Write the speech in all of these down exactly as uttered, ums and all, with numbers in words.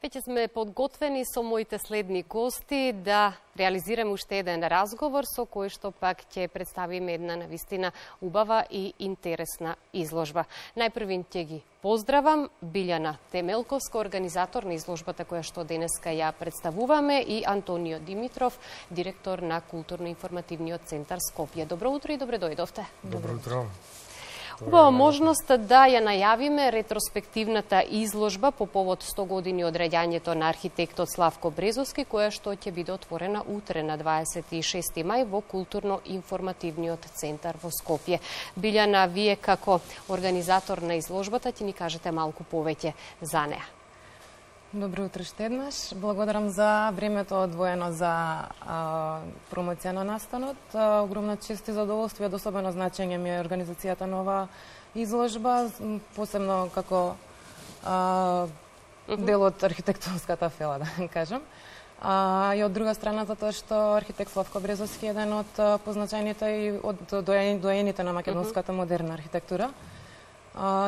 Веќе сме подготвени со моите следни гости да реализираме уште еден разговор со кој што пак ќе представиме една навистина убава и интересна изложба. Најпрвин ќе ги поздравам Билјана Темелковска, организатор на изложбата која што денеска ја представуваме, и Антонио Димитров, директор на Културно-информативниот центар Скопје. Добро утро и добре дојдовте. Добро утро. Убава можност да ја најавиме ретроспективната изложба по повод сто години од раѓањето на архитектот Славко Брезовски, која што ќе биде отворена утре на дваесет и шести мај во Културно-информативниот центар во Скопје. Билјана, вие како организатор на изложбата ќе ни кажете малку повеќе за неа. Добро утро уште еднаш. Благодарам за времето одвоено за а, промоција на настанот. А, огромна чест и задоволство и од особено значење ми е организацијата на оваа изложба, посебно како а, дел од архитектурската фела, да кажам. А, и од друга страна, затоа што архитект Славко Брезовски е еден од позначајните и од доените на македонската модерна архитектура.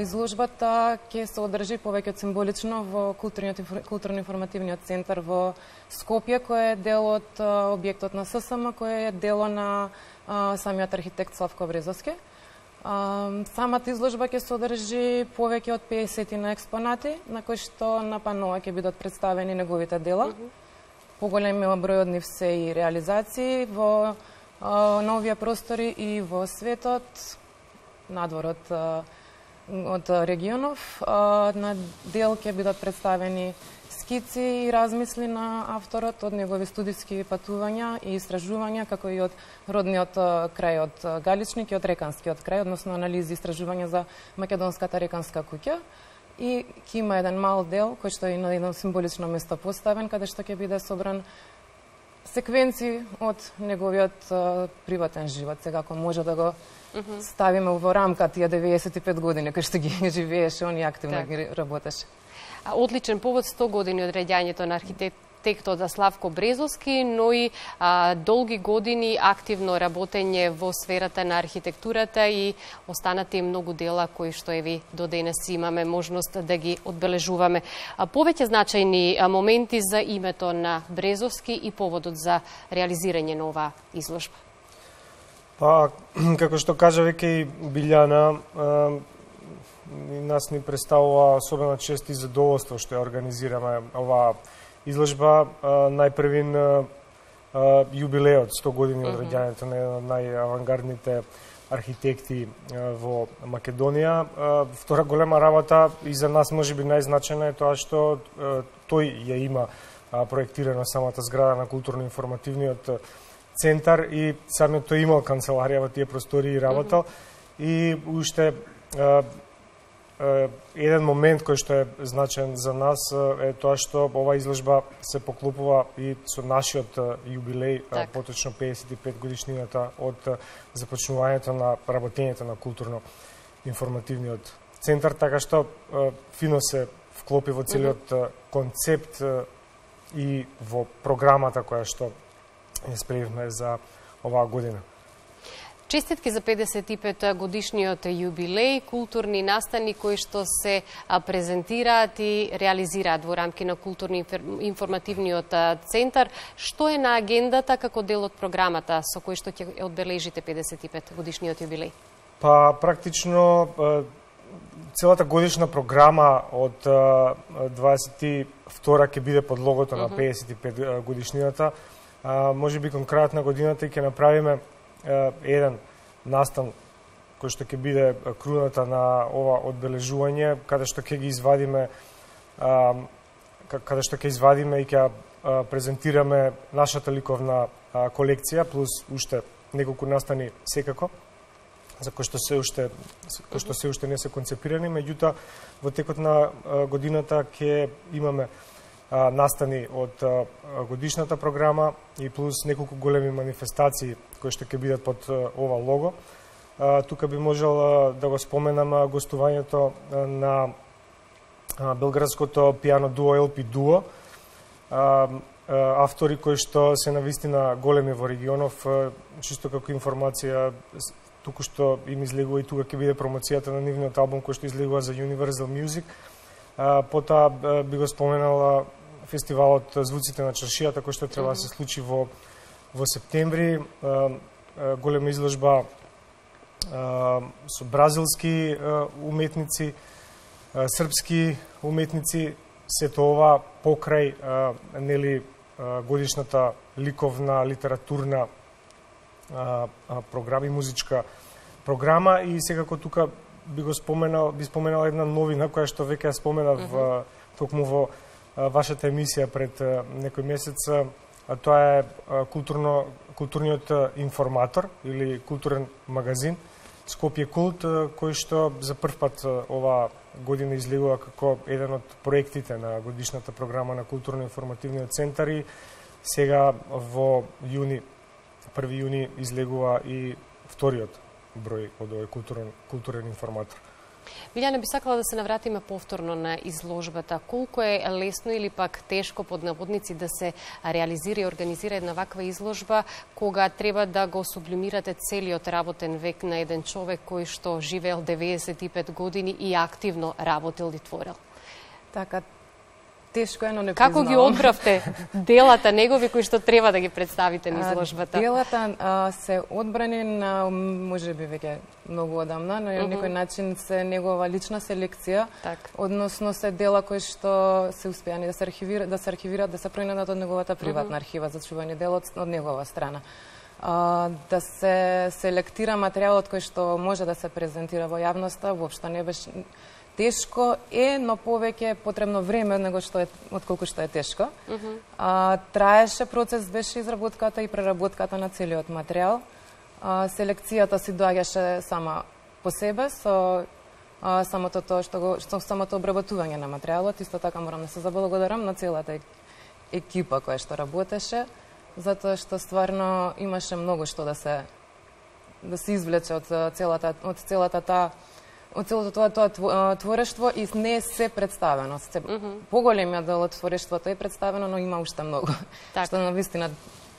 Изложбата ќе се одржи повеќе символично во Културно-информативниот центар во Скопје, кој е дел од објектот на ССМ, кој е дело на самиот архитект Славко Брезовски. Самата изложба ќе се одржи повеќе од песет на експонати, на кои што на панова ќе бидат представени неговите дела. Поголемиот број од нив се и реализации во новија простори и во светот, надвор од од регионов. На дел ќе бидат представени скици и размисли на авторот од негови студиски патувања и истражувања, како и од родниот крај од Галичник и од Реканскиот крај, односно анализи и истражувања за македонската Реканска куќа. И ќе има еден мал дел, кој што е на едно символично место поставен, каде што ќе биде собран секвенци од неговиот приватен живот. Сега, ако може да го ставиме во рамка тие деветдесет и пет години кои што ги живееше, он и активно ги работеше. Одличен повод сто години од раѓањето на архитектот Славко Брезовски, но и а, долги години активно работење во сферата на архитектурата и останати многу дела кои што еви до денес имаме можност да ги одбележуваме. А, повеќе значајни а, моменти за името на Брезовски и поводот за реализирање на оваа изложба. Па, како што кажа веќе и Билјана, нас ни представува особена чест и задоволство што ја организираме оваа изложба. Најпрвин јубилеот сто години од раѓањето на еден од најавангардните архитекти во Македонија. Втора голема работа и за нас можеби најзначајна е тоа што тој ја има проектирано самата зграда на Културно-информативниот центар и самиот тој имал канцеларија во тие простори и работал. И уште еден момент кој што е значен за нас е тоа што оваа изложба се поклопува и со нашиот јубилеј, так. поточно педесет и пет годишнината од започнувањето на работењето на Културно-информативниот центар, така што фино се вклопи во целиот концепт и во програмата која што ја спремивме за оваа година. Честитки за педесет и пет годишниот јубилеј, културни настани кои што се презентираат и реализираат во рамки на Културно-информативниот центар. Што е на агендата како дел од програмата со кој што ќе одбележите педесет и пет годишниот јубилеј? Па, практично, целата годишна програма од дваесет и втора ќе биде под логото на педесет и пет годишнината. Може би кон крајот на годината ќе направиме еден настан кој што ќе биде круната на ова одбележување, каде што ќе ги извадиме каде што ќе извадиме и ќе презентираме нашата ликовна колекција плюс уште неколку настани секако за кои што се уште кои што се уште не се концепирани, меѓутоа во текот на годината ќе имаме настани од годишната програма и плюс неколку големи манифестации кои што ќе бидат под ова лого. Тука би можел да го споменам гостувањето на белградското пијано дуо Ел Пи Дуо, автори кои што се навистина големи во регионов, чисто како информација, туку што им излегува и тука ќе биде промоцијата на нивниот албум кој што излегува за Universal Music. Потоа би го споменала фестивалот Звуците на чаршијата, кој што треба да се случи во во септември, голема изложба со бразилски уметници, српски уметници, сето ова покрај нели годишната ликовна, литературна програма и музичка програма. И секако тука би го споменал, би споменал една новина која што веќе ја споменав mm -hmm. токму во вашата емисија пред некој месец, а тоа е културно културниот информатор или културен магазин Скопје Култ, кој што за прв пат ова година излегува како еден од проектите на годишната програма на културно-информативниот центар и сега во јуни, први јуни излегува и вториот број од овој културен, културен информатор. Билјана, би сакала да се навратиме повторно на изложбата. Колку е лесно или пак тешко под наводници да се реализира и организира една ваква изложба, кога треба да го сублимирате целиот работен век на еден човек кој што живеел деветдесет и пет години и активно работел и творел? Така, тешко е, но не Како признавам. ги одбравте делата негови кои што треба да ги представите на изложбата? Делата а, се одбрани на, може би веќе многу одамна, но на некој начин се негова лична селекција, Так. односно се дела кои што се успеани да се архивираат, да се архивираат, да се пронајдат од неговата приватна архива за чување дел од, од негова страна. А, да се селектира материјалот кој што може да се презентира во јавноста, воопшто не беше тешко е, но повеќе потребно време него што е отколку што е тешко. Uh -huh. а, траеше процес, беше изработката и преработката на целиот материјал. А, селекцијата си доаѓаше сама по себе со а, самото тоа што го што самото обработување на материјалот. Исто така морам да се заблагодарам на целата екипа која што работеше, затоа што стварно имаше многу што да се да се извлече од целата од целата таа од целото тоа, тоа творештво и не се представено. Се, mm -hmm. Поголемиот дел од творештвото е представено, но има уште многу. Так. Што навистина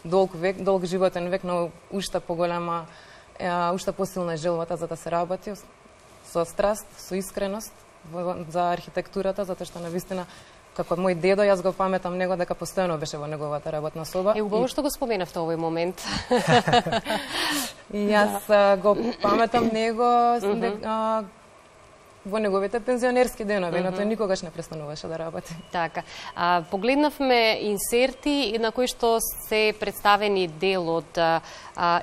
долг век, долг животен век, но уште поголема, е, уште посилна е желбата за да се работи со страст, со искреност за архитектурата, затоа што навистина како мој дедо, јас го паметам него дека постојано беше во неговата работна соба. Е, убаво што го споменавте овој момент. И јас да. го паметам него uh -huh. а, во неговите пензионерски денови, uh -huh. но тој никогаш не престануваше да работи. Така. А, погледнавме инсерти на кои што се представени дел од а,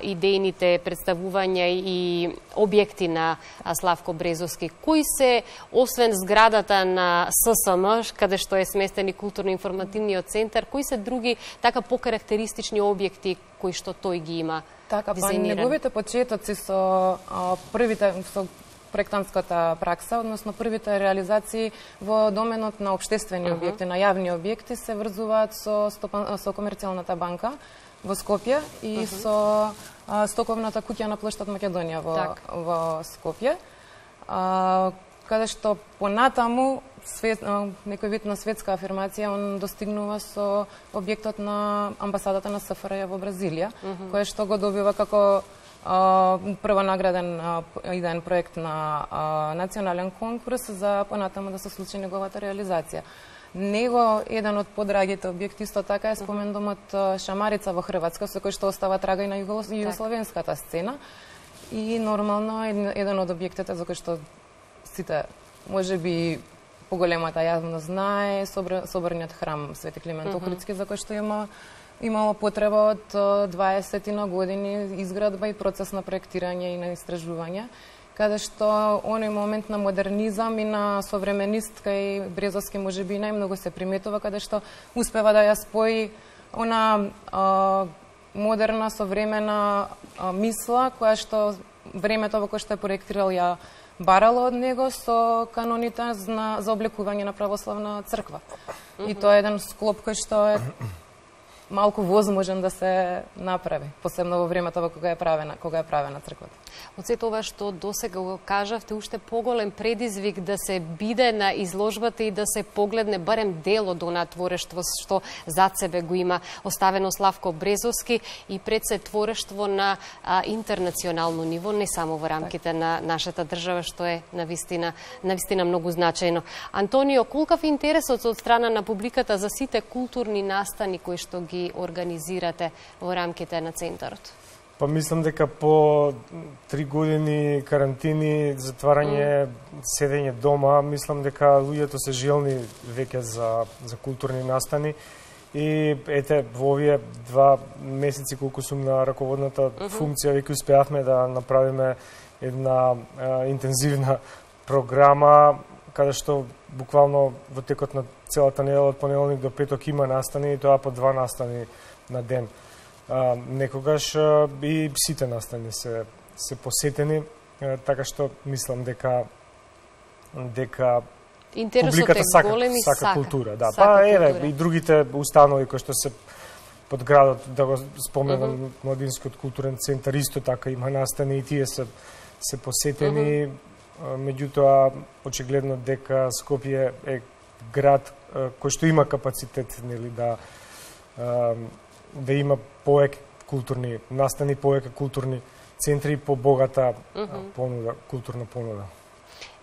идејните представувања и објекти на а, Славко Брезовски. Кои се, освен зградата на С С М, каде што е сместен и културно-информативниот центар, кои се други така покарактеристични објекти кои што тој ги има? Така, па дизајниран? неговите почетоци со а, првите со проектантската пракса, односно првите реализации во доменот на општествени uh -huh. објекти, на јавни објекти се врзуваат со стопан, со комерцијалната банка во Скопје и uh -huh. со а, стоковната куќа на плоштад Македонија во так. во Скопје. А, каде што понатаму свет, а, некој вид на светска афирмација он достигнува со објектот на амбасадата на С Ф Р Ј во Бразилија, uh -huh. кој што го добива како Uh, прво награден uh, идеен проект на uh, национален конкурс за понатаму да се случи неговата реализација. Него еден од подрагите објекти исто така е спомен домот uh, Шамарица во Хрватска, со кој што остава трага и на југословенската сцена. И нормално еден од објектите за кој што сите можеби поголемата јавност знае соборниот храм Свети Климент Охридски, за кој што има имало потреба од дваесет години изградба и процес на проектирање и на истражување, каде што оној момент на модернизам и на современист кај Брезовски можеби најмногу се приметува, каде што успева да ја спои она а, модерна, современа а, мисла, која што времето во кое што е проектирал ја барало од него со каноните за, за облекување на православна црква. Mm -hmm. И тоа е еден склоп кој што е малку возможен да се направи, посебно во времето во кога е правена, кога е правена црквата. Од сето ова што досега го кажавте, уште поголем предизвик да се биде на изложбата и да се погледне барем дел од онаа творештво што зад себе го има оставено Славко Брезовски и пред се творештво на а, интернационално ниво, не само во рамките на нашата држава, што е навистина, навистина многу значајно. Антонио, колкав е интересот од страна на публиката за сите културни настани кои што ги организирате во рамките на центарот? Па мислам дека по три години карантини, затварање, mm. седење дома, мислам дека луѓето се желни веќе за, за културни настани. И ете, во овие два месеци колку сум на раководната mm -hmm. функција, веќе успеавме да направиме една а, интензивна програма, каде што буквално во текот на целата недела од понеделник до петок има настани, и тоа по два настани на ден. А, некогаш а, и сите настани се, се посетени, а, така што мислам дека дека интересот публиката е сака, голем и сака, сака култура. Да. Сака па еве култура. И другите установи кои што се под градот, да го споменам, mm -hmm. Младинскиот културен центар исто така има настани и тие се се посетени. Mm -hmm. Меѓутоа очигледно дека Скопје е град кој што има капацитет, нели, да да има повеќе културни настани, повеќе културни центри и побогата mm -hmm. понуда, културна понуда.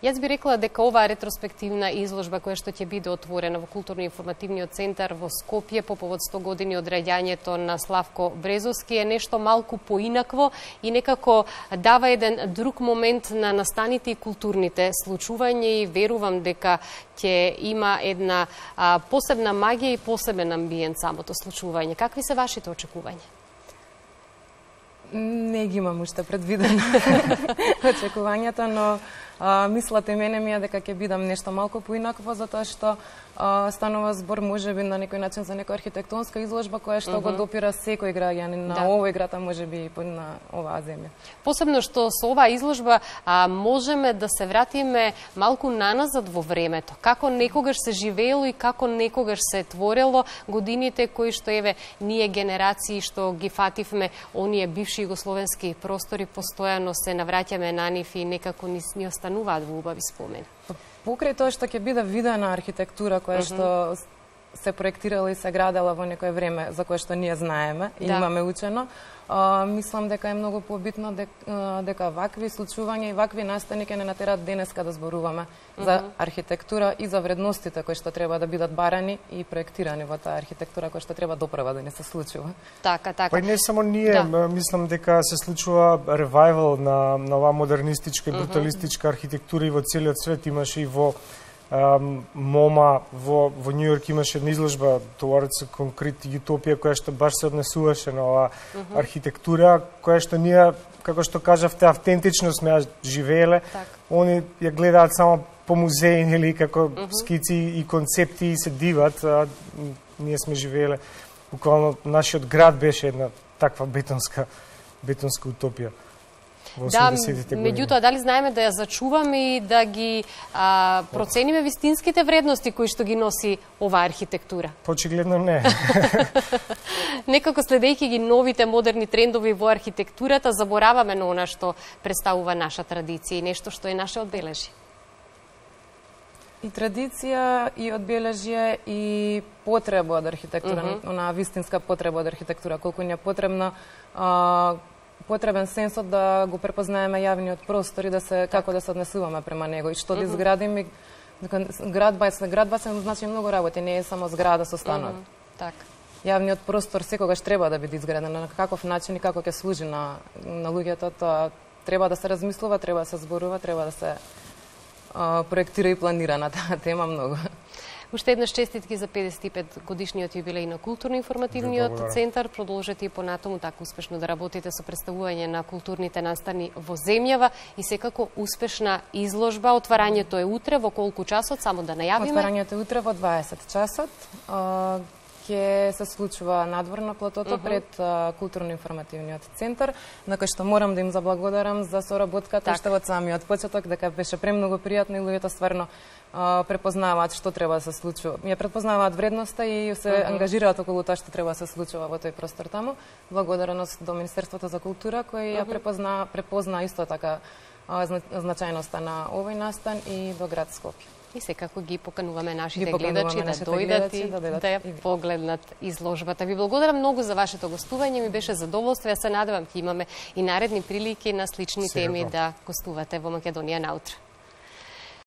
Јас би рекла дека оваа ретроспективна изложба која што ќе биде отворена во Културно-информативниот центар во Скопје по повод сто години од раѓањето на Славко Брезовски е нешто малку поинакво и некако дава еден друг момент на настаните и културните случувања и верувам дека ќе има една а, посебна магија и посебен амбиент самото случување. Какви се вашите очекувања? Не ги имам уште предвидено очекувањата, но а, мислата и мене ми е дека ќе бидам нешто малку поинакво, затоа што а, станува збор можеби на некој начин за некоја архитектонска изложба која што mm -hmm. го допира секој граѓанин на да. овој град, а можеби и на оваа земја. Посебно што со оваа изложба а, можеме да се вратиме малку наназад во времето. Како некогаш се живеело и како некогаш се творело годините кои што еве ние генерации што ги фативме оние бивши југословенски простори, постојано се навраќаме на нив и некако ни, ни остануваат во убави спомени. Покрај тоа што ќе биде видена архитектура која mm -hmm. што се проектирала и се градела во некое време за кое што ние знаеме и да. имаме учено, а, мислам дека е многу побитно дека, дека вакви случувања и вакви настани ќе не натерат денеска да зборуваме mm -hmm. за архитектура и за вредностите кои што треба да бидат барани и проектирани во таа архитектура која што треба доправа да не се случува. Така, така. Па и не само ние, да. мислам дека се случува ревајвал на на оваа модернистичка и бруталистичка mm -hmm. архитектура и во целиот свет. Имаше и во МоМА во во Њујорк имаше една изложба Towards Concrete Utopia која што баш се однесуваше на оваа mm -hmm. архитектура која што ние, како што кажавте, автентично сме ја живееле. Так. Они ја гледаат само по музеи, нели, како mm -hmm. скици и концепти и се диват, а ние сме живееле. Буквално нашиот град беше една таква бетонска бетонска утопија. Да, меѓутоа, дали знаеме да ја зачуваме и да ги а, процениме вистинските вредности кои што ги носи оваа архитектура? Очигледно не. Некако следејќи ги новите модерни трендови во архитектурата, забораваме на она што представува наша традиција и нешто што е наше одбележје. И традиција, и одбележје, и потреба од архитектура, mm -hmm. она вистинска потреба од архитектура, колку ни е потребна а, потребен сенсот да го препознаеме јавниот простор и да се како да се однесуваме према него и што да изградиме. Градба е градба се значи многу работи, не е само зграда со станови. Mm -hmm. Так. Јавниот простор секогаш треба да биде изграден на каков начин и како ќе служи на на луѓето, тоа треба да се размислува, треба да се зборува, треба да се а, проектира и планира на таа тема многу. Уште еднаш честитки за педесет и пет годишниот јубилеј на Културно-информативниот центар. Продолжете и понатаму така успешно да работите со представување на културните настани во земјава и секако успешна изложба. Отварањето е утре во колку часот, само да најавиме? Отварањето е утре во дваесет часот. ќе се случува надвор на платото uh -huh. пред културно-информативниот центар, на кој што морам да им заблагодарам за соработката уште од самиот почеток, дека беше премногу пријатно и луѓето стварно препознаваат што треба да се случува. Ја препознаваат вредноста и се uh -huh. ангажираат околу тоа што треба да се случува во тој простор таму. Благодарност до Министерството за култура кој ја uh -huh. препозна препозна исто така значајноста на овој настан и до град Скопје. И секако ги покануваме нашите ги гледачи да дојдат и да, да ја погледнат изложбата. Ви благодарам многу за вашето гостување, ми беше задоволство. Ја се надевам ќе имаме и наредни прилики на слични теми да гостувате во Македонија наутре.